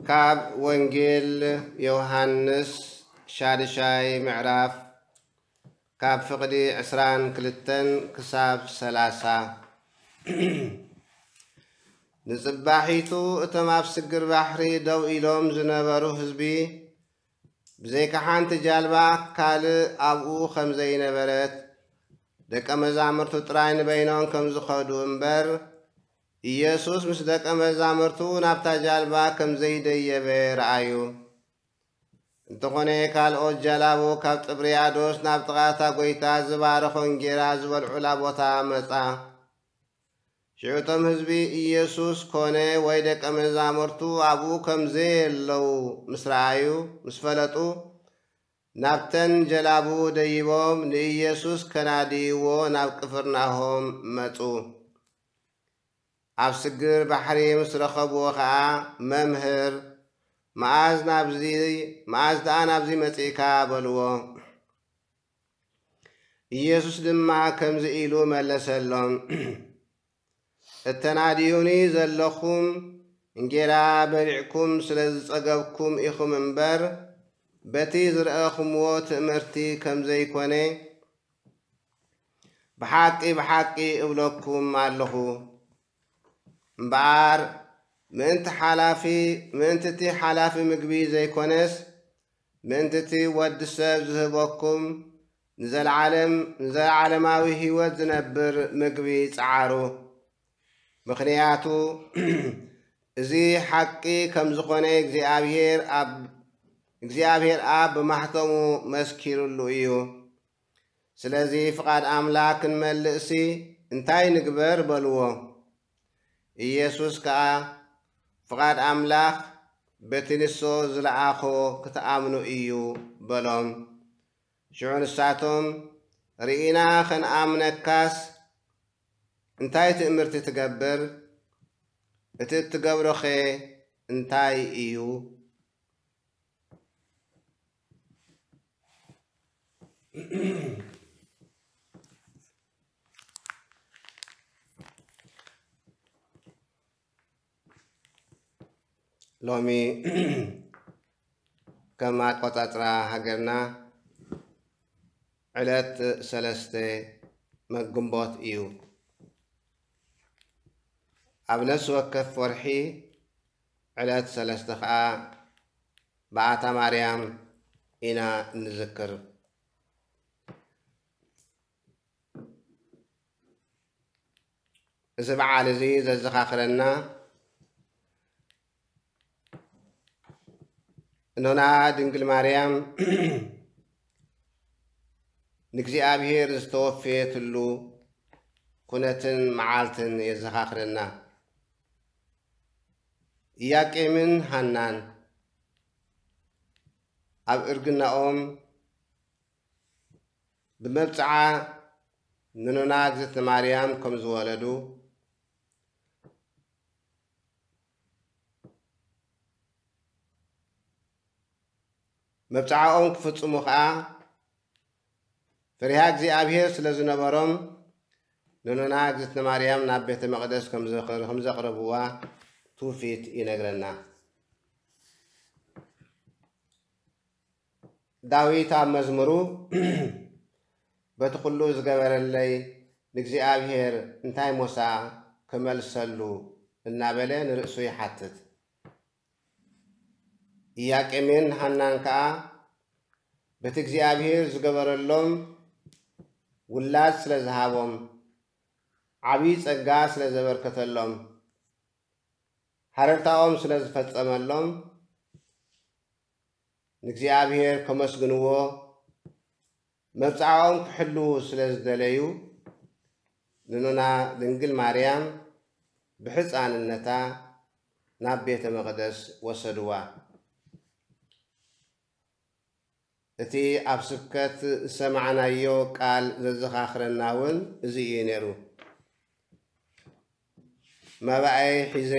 ካብ ወንጌል ዮሃንስ ሻድሻይ ምዕራፍ፣ ካብ ፍቕዲ ዕስራን ክልተን ክሳብ ሰላሳ። ንጽባሒቱ እቶም ኣብ ስግር ባሕሪ ደው ኢሎም ዝነበሩ ህዝቢ፣ ብዘይካ ሓንቲ ጃልባ ካልእ ኣብኡ ከም ዘይነበረት፣ ደቀ መዛሙርቱ ጥራይ ንበይኖም ከም ዝኸዱ እምበር፣ ኢየሱስ ምስ ደቀ መዛሙርቱ ናብታ ጃልባ ከም ዘይደየበ ረኣዩ። እንተኾነ፣ ካልኦት ጀላቡ ካብ ጥብርያዶስ ናብ ጥቓ እታ ጐይታ ዝባረኾ እንጌራ ዝበልዑላ ቦታ መጻ። ሽዑ እቶም ህዝቢ፣ ኢየሱስ ኮነ ወይ ደቀ መዛሙርቱ ኣብኡ ከም ዘየለዉ ምስ ረኣዩ፣ ምስ ፈለጡ፣ ናብተን ጀላቡ ደይቦም ንኢየሱስ ከናድይዎ ናብ ቅፍርናሆም መጹ። ኣብ ስግር ባሕሪ ምስ ረኸብዎ ኸኣ፣ "መምህር፣ መኣዝ ናብዚ፣ መኣዝ ደኣ ናብዚ መጺእካ?" በልዎ። ኢየሱስ ድማ ከምዚ ኢሉ መለሰሎም፣ "እተናድዩኒ ዘለኹም እንጌራ በሊዕኩም ስለ ዝጸገብኩም ኢኹም እምበር፣ በቲ ዝረኣኹምዎ ትእምርቲ ከም ዘይኮነ፣ ብሓቂ፣ ብሓቂ እብለኩም ኣለኹ። እምበኣር፣ ምእንቲ ሓላፊ፣ ምእንቲ እቲ ሓላፊ ምግቢ ዘይኮነስ፣ ምእንቲ እቲ ወዲ ሰብ ዝህበኩም ንዘለዓለም፣ ንዘለዓለማዊ ህይወት ዝነብር ምግቢ ጸዓሩ። ምኽንያቱ፣ እዚ ሓቂ ከም ዝኾነ እግዚኣብሔር ኣብ፣ እግዚኣብሔር ኣብ ብማሕተሙ መስኪሩሉ እዩ። ስለዚ ፍቓድ ኣምላኽ ክንመልእሲ እንታይ ንግበር?" በልዎ። ኢየሱስ ከኣ፣ "ፍቓድ ኣምላኽ በቲ ንሱ ዝለኣኾ ክትኣምኑ እዩ" በሎም። ሽዑ ንሳቶም፣ "ርኢና ኸንኣምነካስ እንታይ ትእምርቲ ትገብር? እቲ እትገብሮኸ እንታይ እዩ?" ሎሚ ከም ኣቆጻጽራ ሃገርና ዕለት ሰለስተ መ-፣ ግንቦት እዩ። ኣብ ነፍሲ ወከፍ ወርሒ ዕለት ሰለስተ ኸኣ በዓታ ማርያም ኢና እንዝክር። እዚ በዓል እዚ ዘዘኻኽረና፣ እኖና ድንግል ማርያም ንእግዚኣብሔር ዝተወፈየትሉ ኩነትን መዓልትን የዘኻኽረና። ኢያቄምን ሃናን ኣብ እርግናኦም ብመብጽዓ ንኖና እግዝእትነ ማርያም ከም ዝወለዱ፣ መብጽዓኦም ክፍጽሙ ኸኣ ፈሪሃ እግዚኣብሔር ስለ ዝነበሮም፣ ንኖና እግዝእትነ ማርያም ናብ ቤተ መቕደስ ከም ዘቕር-፣ ከም ዘቕረብዋ ትውፊት ይነግረና። ዳዊት ኣብ መዝሙሩ፣ "በቲ ኩሉ ዝገበረለይ ንእግዚኣብሔር እንታይ ሞሳ ክመልሰሉ?" እናበለ ንርእሱ ይሓትት። ኢያቄምን ሃናን ከኣ በቲ እግዚኣብሔር ዝገበረሎም ውላድ ስለ ዝሃቦም፣ ዓብዪ ጸጋ ስለ ዘበርከተሎም፣ ሃረርታኦም ስለ ዝፈጸመሎም፣ ንእግዚኣብሔር ከመስግንዎ፣ መብጽዓኦም ክሕልዉ ስለ ዝደለዩ፣ ንኖና ድንግል ማርያም ብሕፃንነታ ናብ ቤተ መቕደስ ወሰድዋ። እቲ ኣብ ስብከት ዝሰማዕናዮ ቃል ዘዘኻኽረና እውን እዚ እዩ ነይሩ። መባኤ ሒዘ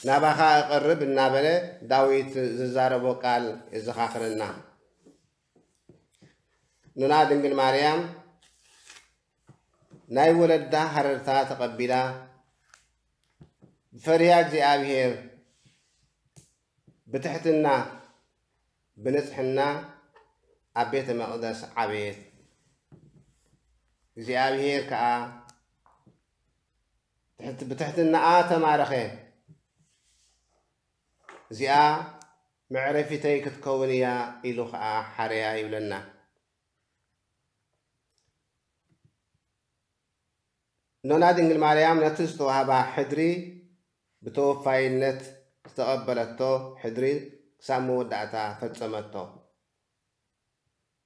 ናባኻ እቐርብ እናበለ ዳዊት ዝዛረቦ ቃል የዘኻኽረና። ኖና ድንግል ማርያም ናይ ወለዳ ሃረርታ ተቐቢላ፣ ብፈሪሃ እግዚኣብሔር፣ ብትሕትና፣ ብንጽሕና ኣብ ቤተ መቕደስ ዓበየት። እግዚኣብሔር ከኣ ትሕት-፣ ብትሕትናኣ ተማረኸ። እዚኣ መዕረፊተይ ክትከውን እያ ኢሉ ኸኣ ሓረያ ይብለና። እኖና ድንግል ማርያም ነቲ ዝተዋህባ ሕድሪ ብተወፋይነት ዝተቐበለቶ ሕድሪ ክሳብ መወዳእታ ፈጸመቶ።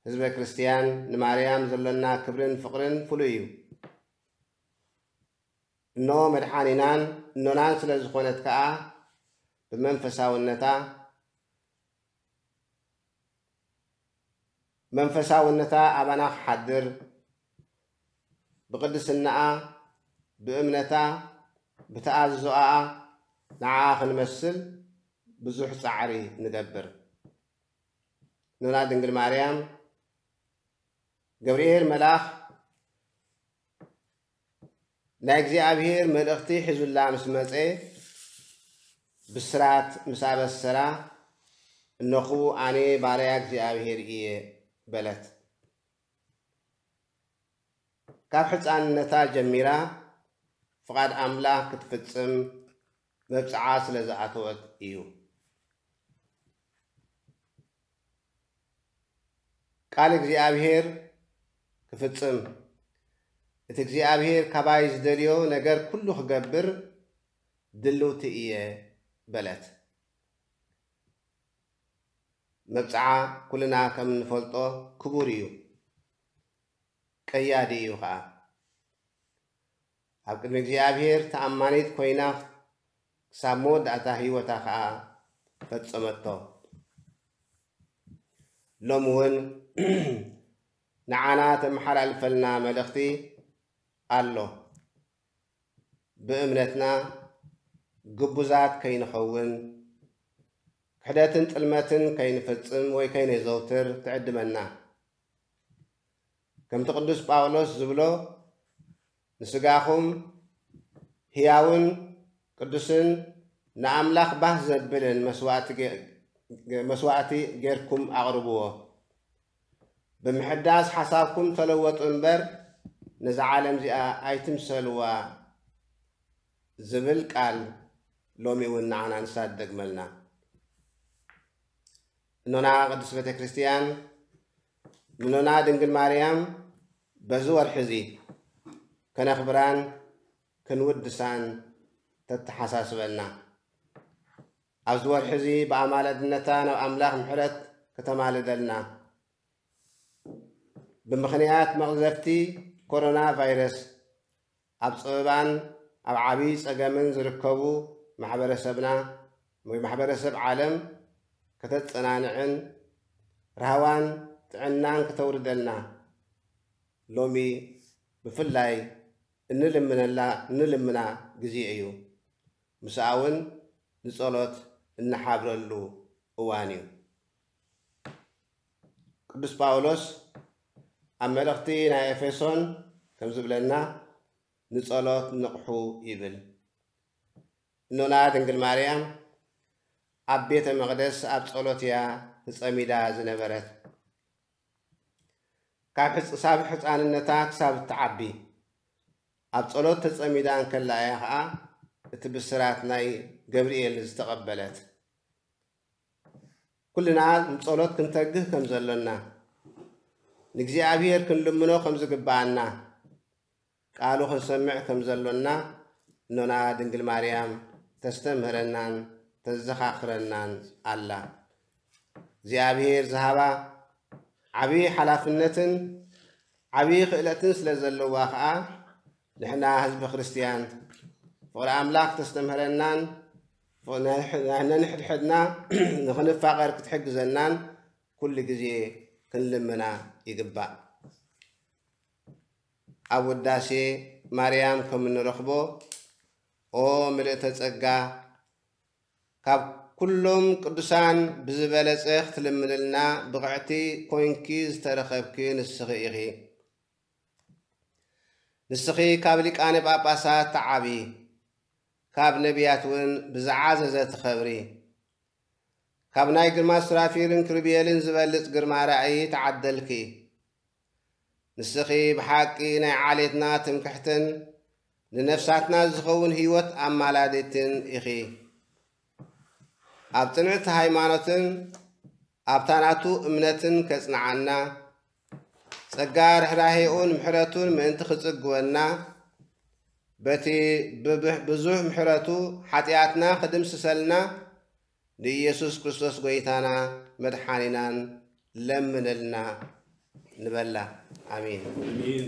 ህዝበ ክርስትያን ንማርያም ዘሎና ክብርን ፍቕርን ፍሉይ እዩ። እኖ መድሓኒናን እኖናን ስለ ዝኾነት ከኣ ብመንፈሳውነታ መንፈሳውነታ ኣባና ክሓድር፣ ብቕድስናኣ፣ ብእምነታ፣ ብተኣዝዞኣ ንዓኣ ክንመስል ብዙሕ ጻዕሪ ንገብር። እኖና ድንግል ማርያም፣ ገብርኤል መልኣኽ ናይ እግዚኣብሔር መልእኽቲ ሒዙላ ምስ መጸ፣ ብስራት ምስ ኣበሰራ፣ "እነኹ ኣነ ባርያ እግዚኣብሔር እየ" በለት። ካብ ሕፃንነታ ጀሚራ ፍቓድ ኣምላኽ ክትፍጽም መብጽዓ ስለ ዝኣተወት እዩ። ቃል እግዚኣብሔር ክፍጽም፣ እቲ እግዚኣብሔር ካባይ ዝደልዮ ነገር ኩሉ ክገብር ድልውቲ እየ በለት። መብጽዓ ኩልና ከም እንፈልጦ ክቡር እዩ፣ ቀያዲ እዩ ኸኣ። ኣብ ቅድሚ እግዚኣብሔር ተኣማኒት ኮይና ክሳብ መወዳእታ ህይወታ ኸኣ ፈጸመቶ። ሎሚ እውን ንዓና ተመሓላልፈልና መልእኽቲ ኣሎ። ብእምነትና ግቡዛት ከይንኸውን፣ ክሕደትን ጥልመትን ከይንፍጽም ወይ ከይነዘውትር ትዕድመና። ከምቲ ቅዱስ ጳውሎስ ዝብሎ፣ "ንስጋኹም ህያውን ቅዱስን ንኣምላኽ ባህ ዘብልን መስዋእቲ ጌ-፣ መስዋእቲ ጌርኩም ኣቕርብዎ። ብምሕዳስ ሓሳብኩም ተለወጡ እምበር፣ ነዛ ዓለም እዚኣ ኣይትምሰልዋ" ዝብል ቃል ሎሚ እውን ንዓና ንሳ ትደግመልና። እኖና ቅድስት ቤተ ክርስቲያን፣ ንኖና ድንግል ማርያም በዚ ወርሒ እዚ ከነኽብራን ክንውድሳን ተተሓሳስበና። ኣብዚ ወርሒ እዚ ብኣማላድነታ ናብ ኣምላኽ ምሕረት ከተማልደልና፣ ብምኽንያት መቕዘፍቲ ኮሮና ቫይረስ ኣብ ጸበባን ኣብ ዓብዪ ጸገምን ዝርከቡ ማሕበረሰብና ወይ ማሕበረሰብ ዓለም ከተጸናንዕን ራህዋን ጥዕናን ክተውርደልና ሎሚ ብፍላይ እንልምነላ፣ እንልምና ግዜ እዩ። ምስኣ እውን ንጸሎት እንሓብረሉ እዋን እዩ። ቅዱስ ጳውሎስ ኣብ መልእኽቲ ናይ ኤፌሶን ከም ዝብለና፣ "ንጸሎት ንቕሑ" ይብል። እኖና ድንግል ማርያም ኣብ ቤተ መቕደስ ኣብ ጸሎት እያ ተጸሚዳ ዝነበረት። ካብ ሕጽ-፣ ሳብ ሕጻንነታ ክሳብ እትዓቢ ኣብ ጸሎት ተጸሚዳ እንከላ እያ ኸኣ እቲ ብስራት ናይ ገብርኤል ዝተቐበለት። ኩልና ንጸሎት ክንተግህ ከም ዘሎና፣ ንእግዚኣብሔር ክንልምኖ ከም ዝግብኣና፣ ቃሉ ክንሰምዕ ከም ዘሎና እኖና ድንግል ማርያም ተስተምህረናን ተዘኻኽረናን ኣላ። እግዚኣብሔር ዝሃባ ዓብዪ ሓላፍነትን ዓብዪ ክእለትን ስለ ዘለዋ ኸኣ፣ ንሕና ህዝቢ ክርስትያን ፍቕሪ ኣምላኽ ተስተምህረናን፣ ፍቕ-፣ ናይ-፣ ናይ-፣ ነንሕድሕድና ንኽንፋቐር ክትሕግዘናን ኩሉ ግዜ ክንልምና ይግባእ። ኣብ ውዳሴ ማርያም ከም እንረኽቦ፣ "ኦ ምልእተ ጸጋ፣ ካብ ኩሎም ቅዱሳን ብዝበለጸ ክትልምንልና ብቕዕቲ ኮይንኪ ዝተረኸብኪ ንስኺ ኢኺ። ንስኺ ካብ ሊቃነ ጳጳሳት ትዓቢ፣ ካብ ነቢያት እውን ብዝዓዘዘ ትኸብሪ። ካብ ናይ ግርማ ሱራፊልን ክሩቤልን ዝበልጽ ግርማ ራእይ ተዓደልኪ። ንስኺ ብሓቂ ናይ ዓሌትና ትምክሕትን ንነፍሳትና ዝኸውን ህይወት ኣማላዲትን ኢኺ። ኣብ ጽንዕቲ ሃይማኖትን ኣብታ ናቱ እምነትን ከጽንዓና፣ ጸጋ ርኅራኄኡን ምሕረቱን ምእንቲ ክጽግወና፣ በቲ ብብሕ-፣ ብዙሕ ምሕረቱ ሓጢኣትና ክድምስሰልና ንኢየሱስ ክርስቶስ ጐይታና መድሓኒናን ለምንልና ንበላ። ኣሜን። ኣሜን።